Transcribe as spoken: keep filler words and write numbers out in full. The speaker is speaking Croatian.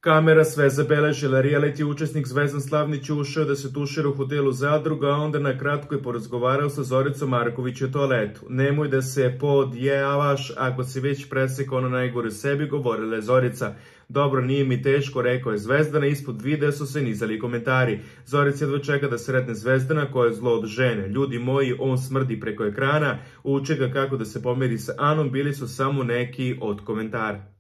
Kamera sve zabeležila, reality učesnik Zvezdan Slavnić ušao da se tušira u hotelu Zadruga, a onda na kratko je porazgovarao sa Zoricom Marković u toaletu. Nemoj da se podjavaš ako si već presekao ono najgore sebi, govorila je Zorica. Dobro, nije mi teško, rekao je Zvezdana, ispod videa su se nizali komentari. Zorica jedva čeka da sretne Zvezdana koja je zlo od žene. Ljudi moji, on smrdi preko ekrana, uče ga kako da se pomeri sa Anom, bili su samo neki od komentara.